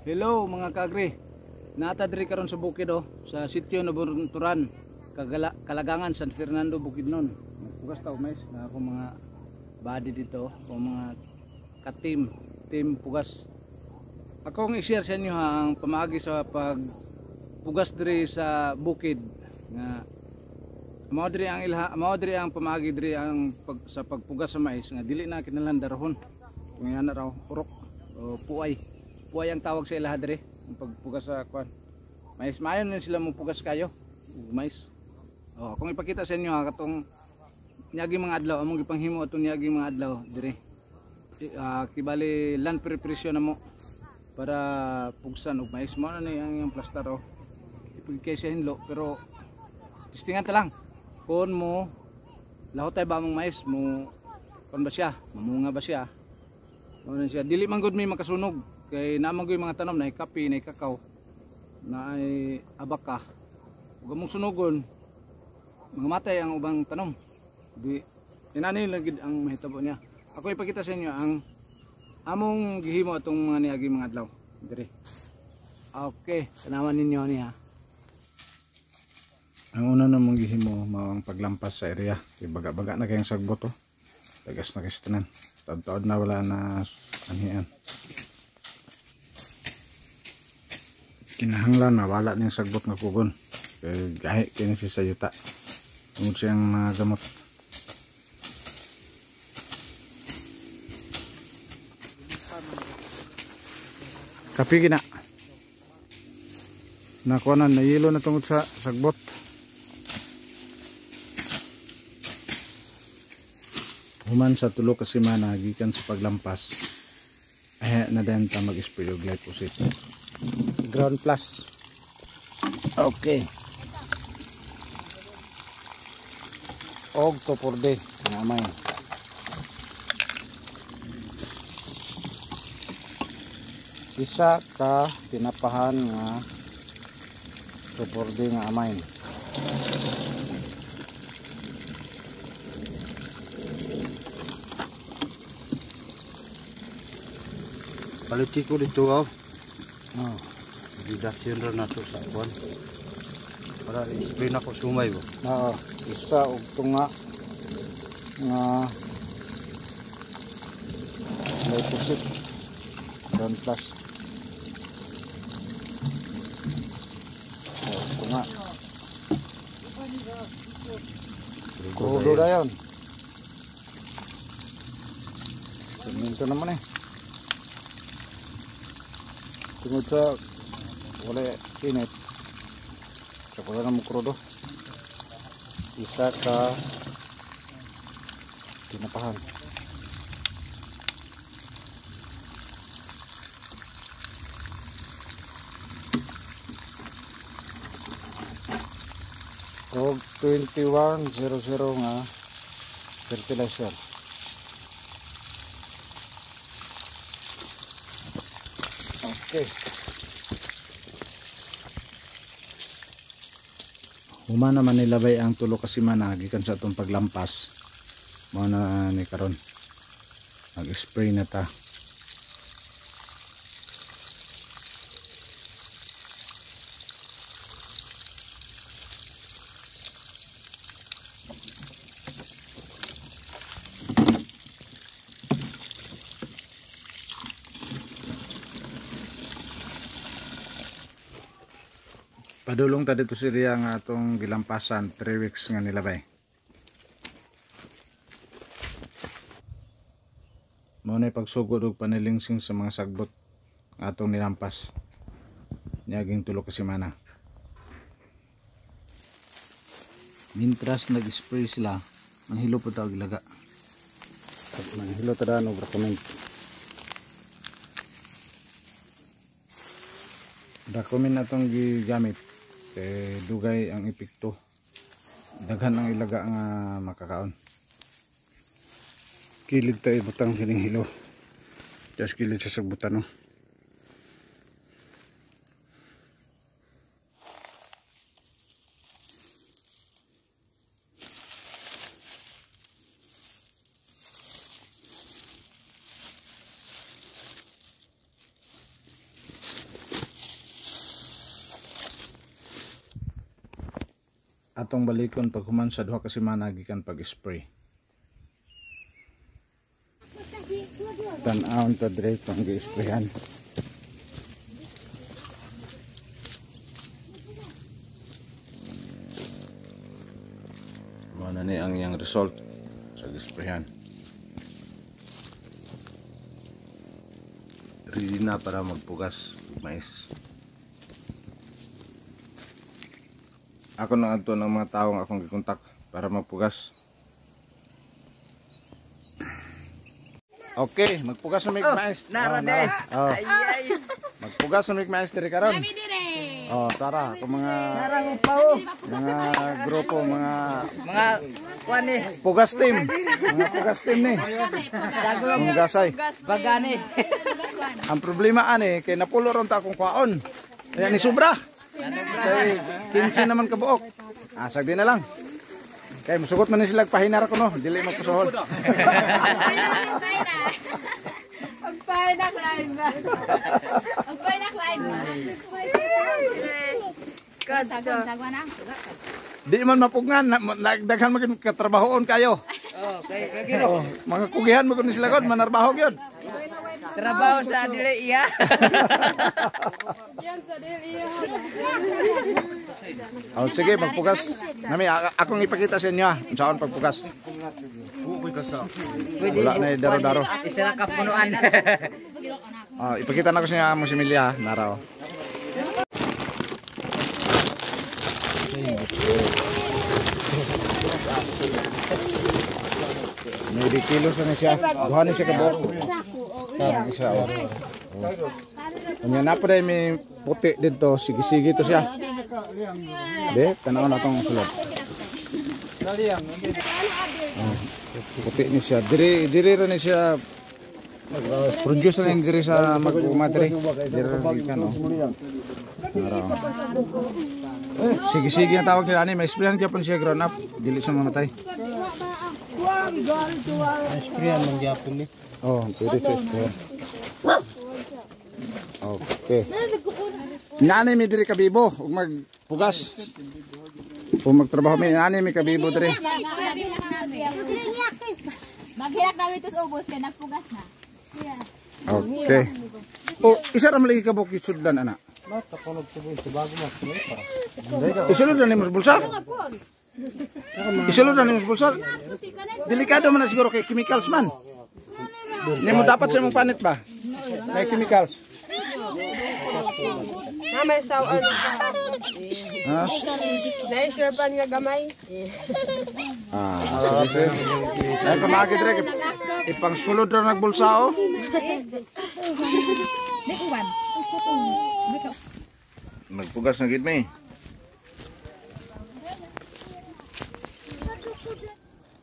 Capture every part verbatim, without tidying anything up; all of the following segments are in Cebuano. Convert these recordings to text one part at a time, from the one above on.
Hello mga kaagri. Nata diri karon sa bukid oh, sa sitio Nabunturan, Kagala, Kalagangan, San Fernando, Bukidnon. Nagpugas ta mais na ako mga body dito, o mga ka-team, team pugas. Ako ang i-share sa inyo ha, ang pamaagi sa pagpugas diri sa bukid nga mao diri ang ilha, mao diri ang pamaagi diri ang pag, sa pagpugas sa mais nga dili na kinahanglan darahon. Kung yan na raw urok o puay. Puay ang tawag sa ilaha diri ang pagpugas sa kwan. Mais maayo na sila mo pugas kayo ug mais. Oh, akong ipakita sa inyo ha katong niagi mga adlaw among gipanghimo atong niagi mga adlaw diri. Uh, kibali land preparation na mo para pugsan og mais. Mao na ni ang iyang plaster oh. Ipigkay siya hinlo pero testingan ta lang. Kung mo lahotay ba among mais mo kon ba siya, mamunga ba siya? Mao na siya dili man gud may makasunog kay naman gud mga tanom na kape, na kakao, na ay abaka. Ug among sunugon mga matay ang ubang tanom. Di inani lang gid ang mahitabo niya. Ako ipakita sa inyo ang among gihimo atong mga niagi mga adlaw diri. Okay, tanawan ninyo niya. Ang una namong gihimo mao ang paglampas sa area. Kay baga-baga na kayong sagbot oh. Tagas na kistanan. Taod-taod na wala na anhian. Kinahanglan mawala ning sagbot nga kugon. Kay gahi kini si sa yuta. Tungod siyang mga gamot. Kapi gina. Nakuha na, nayilo na tungod sa sagbot. Human sa tulo ka semana gikan sa paglampas, ay na din ta mag-spray og glyphosate. Ground plus. Okay. Og two four D nga may. Isa ka tinapahan nga two four D nga amay. Paliti ko dito oh. Oh. Didasyon ra nato sa kwan. Para i-spray na ko sumay ba. Oo, isa og tunga nga glyphosate ground plus. Oh, tunga. Krudo dayon. Semento naman eh. Tungod sa wala init sa wala na mo krudo. Isa ka tinapahan. Og twenty-one zero zero nga fertilizer. Okay. Human naman nilabay ang tulo ka semana gikan sa atong paglampas. Mao na ni karon. Mag-spray na ta. Padulong ta dito si Ria nga atong gilampasan three weeks nga nilabay. Mao na pagsugod og panilingsing sa mga sagbot nga atong nilampas niaging tulo ka semana. Mintras nag-spray sila, manghilo po ta og ilaga. Manghilo ta daan og recommend. Recommend atong gigamit kay dugay ang epekto, daghan ang ilaga nga makakaon. Kilid tayo butang sining hilo, just kilid sa sagbutan no. Atong balikon paghuman sa duha ka semana gikan pag-spray. Tan-awon ta diri pang gi-sprayhan. Mao na ni ang iyang result sa gi-sprayhan. Ready na para magpugas og mais. Ako na adto ng mga taong akong gikontak para magpugas. Okay, magpugas na mig mais. Nara Oh, de. Oh, Ay ay. magpugas na mig mais diri karon. Oh, tara, ako mga Narang pao. mga grupo, mga Mga kuan ni. pugas team. Mga pugas team ni. Mga Bagani. Ang problema ani kay napulo ron ta akong kwaon. Kaya ni sobra. Kay kinse naman kabuok. Asag din na lang. Kay musugot man ni sila pahinar ko no, dili magpusohol. Agpay na climb ba? Agpay na climb ba? Sagwan, sagwan na. Di man mapugnan, nagdaghan man katrabahoon kayo. Oh, kay Oh, mga kugihan mo kun sila god, manarbaho gyud. trabaho sa dili iya. Oh, sige, magpugas. Nami akong ipakita sa inyo ah, unsaon pagpugas. Pwede Wala na eh, daro-daro. Isa ra ka punuan. Oh, ipakita na ko sa inyo mo si Emilia, nara oh. May kilo sa na siya. Duha ni siya kabuok. Parang isa oh. Unya na pa may puti dito, sige-sige to siya. De, tanaw na tong sulod. Oh, puti ni siya. Diri diri ra ni siya produce na diri sa mag-uma diri. Diri ra gikan oh. Nara, oh. Sige-sige ang tawag nila ani, may sprayan gyapon siya ground up, dili siya mamatay. Sprayan man gyapon ni. Oh, pwede siya sprayan. Okay. Nanay mi diri kabibo ug magpugas. Ug magtrabaho mi nanay mi kabibo diri. Maghilak namin ito sa ubos kay nagpugas na. Okay. Oh, isa ra man lagi ka buok sudlan ana. Isulod na nimo sa bulsa. Isulod na nimo sa bulsa. Delikado man na siguro kay chemicals man. Nimo dapat sa imong panit ba? May chemicals. Na may sawan. Ha? Na sure pan nga gamay. Ah, sige, sige. Ay, pamagi dire. Ipangsulod ra nagbulsa oh. Magpugas na gid mi.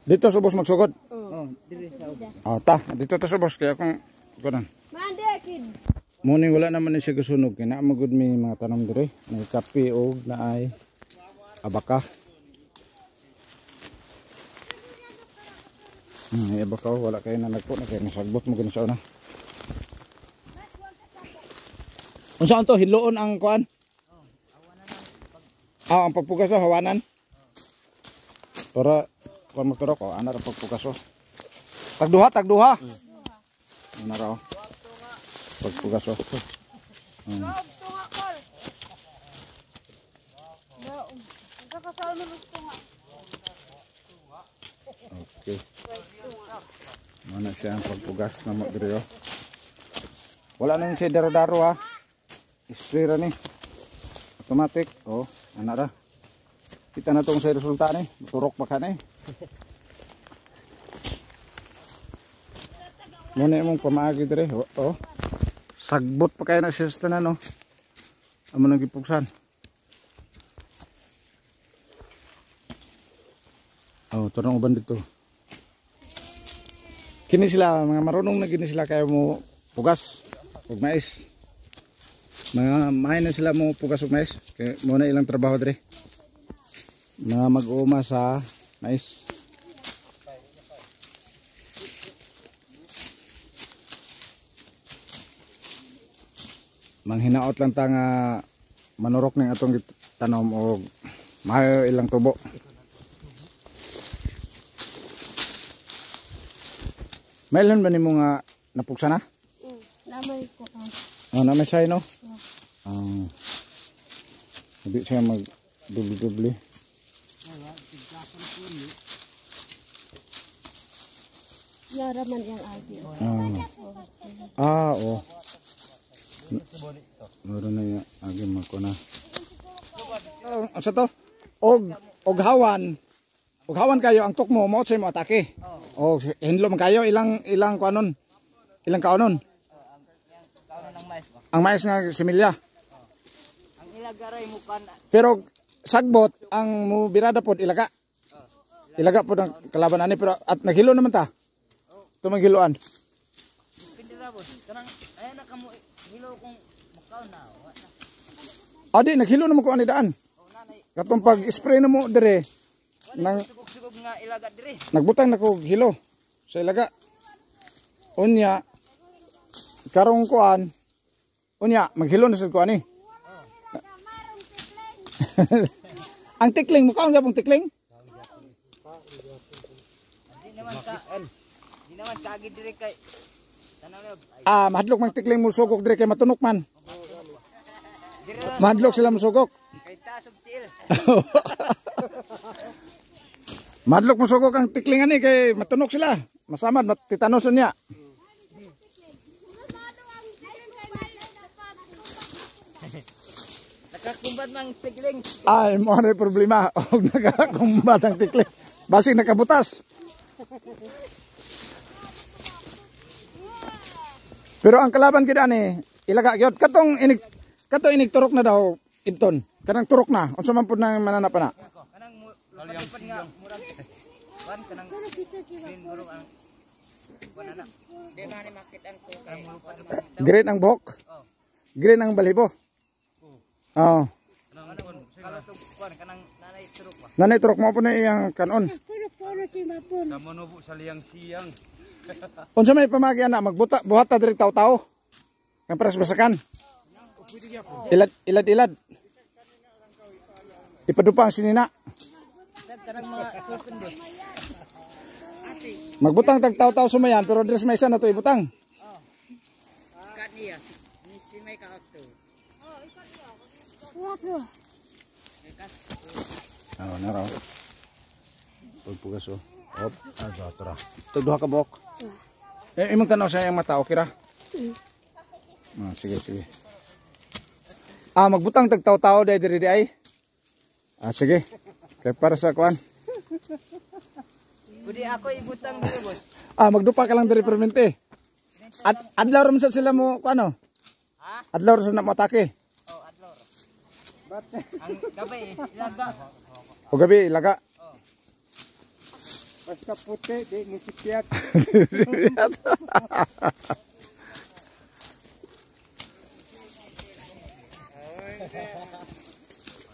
Dito subos magsugod. Oh, dili sa ubos. Ah, ta, dito ta subos kaya kung kunan. Muni wala naman ni siya gasunog kay naa magud may mga tanom dire, may kape og naay abaka. Hmm, may abaka oh, wala kay na nagpo na kay nasagbot mo gani sa una. Unsa to hiloon ang kuan? Ah, ang pagpugas oh, hawanan. Para kuan magturok oh, ana ra pagpugas oh. Tagduha, tagduha. Ana ra oh. Pagpugas oh. Hmm. Okay. Mana siya ang pagpugas na mo diri oh. Wala nang siya daro-daro ha. Spray ra ni. Automatic. Oh, ana ra. Kita na tong sa resulta ni. Turok pa ka ni. Muna imong pamaagi dire. Oh, oh. Sagbot pa kayo na siya sa tanan, oh. Amo nang gipugsan. Oh, turong uban dito. Kini sila mga marunong na gini sila kayo mo pugas ug mais. Mga mahay na sila mo pugas ug mais. Kay mo na ilang trabaho dire. Mga mag-uuma sa mais. Manghinaot lang ta nga manurok ning atong tanom og Maayo ilang tubo. Mailhan ba nimo nga napugsa na? Mm, lamay ko ang. Oh, na may say no? Ah. Hindi siya mag dubli-dubli. Yara man yang agi. Ah. Ah, oh. Meron na yung agi mako na. Oh, sa to? Og og hawan. Og hawan kayo ang tukmo mo sa mo atake. Oh, hinlo man kayo ilang ilang kuanon. Ilang kaonon. Ang mais nga similya. Ang ilagaray mo kan Pero sagbot ang mo birada pod ilaga. Ilaga pod ang kalaban ani pero at naghilo naman ta. Ito maghiloan. pindira boss. Kanang ay na kamo hilo kung mukaw na. Wa na. Adi naghilo naman ko ani daan. Katong pag spray na mo dire nang Sugog-sugog nga ilaga dire. nagbutang na ko hilo sa ilaga. Unya karong kuan unya maghilo na sad ko ani. Ang tikling mukha ang gapong tikling. Di naman ka. Di naman kaagi dire kay tanaw na ay Ah, mahadlok mang tikling mo sugok dire kay matunok man. Mahadlok sila mo sugok. kay taas og tiil. Mahadlok mo sugok ang tikling ani kay matunok sila. Masamad matitanos niya. Nakakumbat mang tikling. Ay, mo na problema. Og nakakumbat ang tikling. Basig nakabutas. Pero ang kalaban gid ani, ilaga gyud katong inig katong inig turok na daw Ibton. Kanang turok na. Unsa man pud nang manana pa na? Kanang lupad nga murag kuan kanang green guro ang kuan ana. Di man ni makitan ko kay Green ang buhok. Green ang balibo. Oh. Kanang kuan kanang nanay turok ba. Nanay turok mo po na iyang kanon. Namono sa liyang siyang. Unsa may pamagi ana magbuta buhata diri taw-taw. Kang paras basakan. Ilad ilad ilad. Ipadupa ang sinina. Kanang mga sulpon boss. Magbutang tag taw-taw sumayan pero diri sa may isa na to ibutang. Kat niya ni si may kaakto. Oh, naraw. Pagpugas oh. Op, ah, tura. Ito duha ka buhok. Eh, imong tanaw sa iyang mata, okay ra? Ah, sige, sige. Ah, magbutang tag taw-taw dai diri di ay. Ah, sige. Kay para sa kuan. Budi ako ibutang diri boss. Ah, magdupa ka lang diri permente. Ad adlaw ra man sad sila mo kuano? Ha? Adlaw ra sad na mo atake. Oh, adlaw. Ang gabi ilaga. O gabi ilaga. Basta puti, di nisipiat.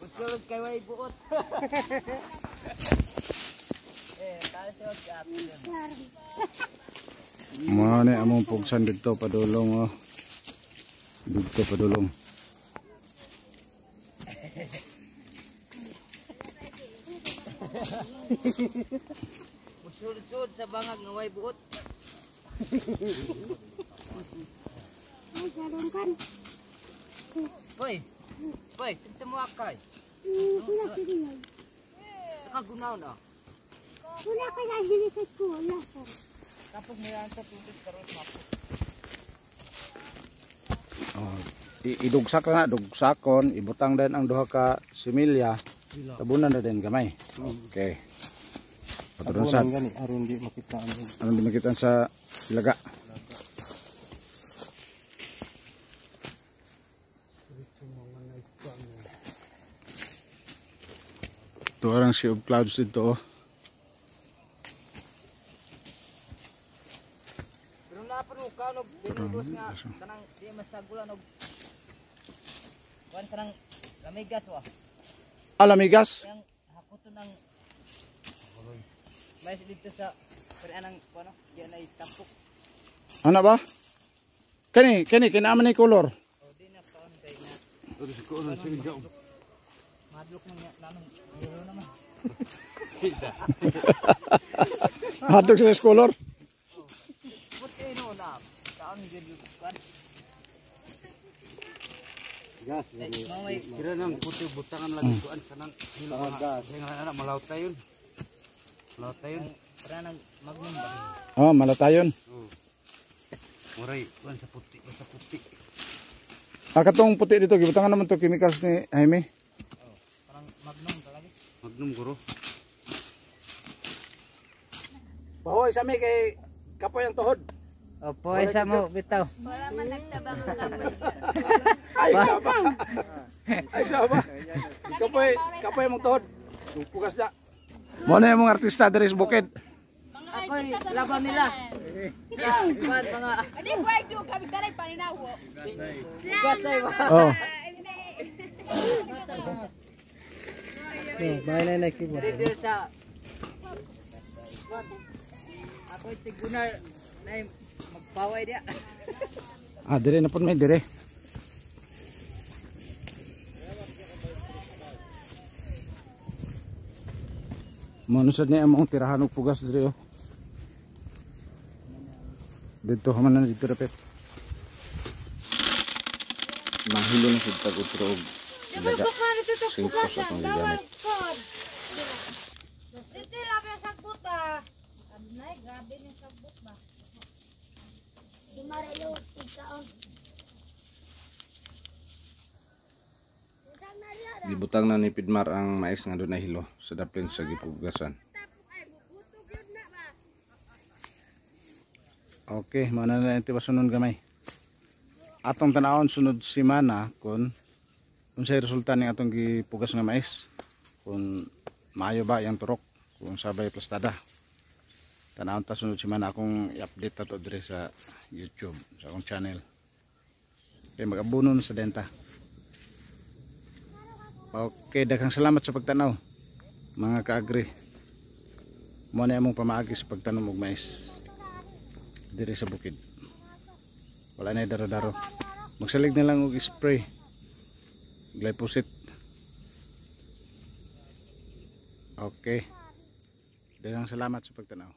Usulog kay way buot. Eh, tayo siya og Mao ni among pugsan didto padulong oh. Didto padulong. Usulod-sulod sa bangag nga way buot. Ay, karon kan. Hoy. Hoy, tinta mo akay. Wala sige. Saka gunaw na. Wala ka na hilikit ko. Wala ka. Kapag mo yan sa tubig karon mapot. Oh, idugsak na dugsakon, ibutang din ang duha ka similya. Tabunan na din gamay. Okay. Patulong sa gani aron di makita ang aron di makita sa ilaga. Ito arang sea of clouds dito oh. Pero na pa no kanog binugos nga kanang di masagulan og kuan kanang lamigas wa. Alamigas. Yang hakuton ang mais dito sa pero anang kuno di na itampok. Ano ba? Kani, kani kinaaman ni color. O di na kaon kay na. Madlok man niya nanong yellow naman. Hadlok sa color. Puti no na. Taon gyud kan. Gas. Kira nang puti butangan lagi kuan kanang hilo gas. Nga na malawt tayon. Malawt tayon. Para nang magnum ba. Oh, malatayon. Oh. Muray kuan sa puti, sa puti. Ah, katong puti dito gibutangan naman to chemicals ni Jaime. Oh, parang magnum talaga. Magnum guro. Pahoy sa mi kay kapoy ang tuhod. Opo, isa mo bitaw. Wala man nagtabang ang kapoy. Ay, sama. Ay, sama. Kapoy, kapoy mong tuhod. Pugas na. Mo na yung mga artista diri sa bukid. Ako'y laban nila. Ya, kuan mga Ani kwai do kami taray paninawo. gasay ba. Oh. Leader sa Ako'y tigunar na magpaway dia. Ah, dire na pud may dire. Mo no sad ni among tirahan og pugas dire oh. Dito man na dito dapit. Mahilo na sad tag utro og ilaga. Singkos atong gigamit. City labi sa buta. Anay, grabe ni sa ba. Si Marilo si kaon. Gibutang na ni Pidmar ang mais nga dunay hilo sa daplin sa gipugasan. Okay, mao na lang tibasonon gamay. Atong tanawon sunod semana kung unsay resulta ning atong gipugas nga mais. Kung maayo ba yang turok, kung sabay plastada. Tanawon ta sunod semana akong i-update ato diri sa YouTube, sa akong channel. Okay, mag-abuno na sa denta. Okay, daghang salamat sa pagtanaw mga kaagri. Mo na among pamaagi sa pagtanom og mais diri sa bukid. Wala na daro-daro. Magsalig na lang og spray glyphosate. Okay. Daghang salamat sa pagtanaw.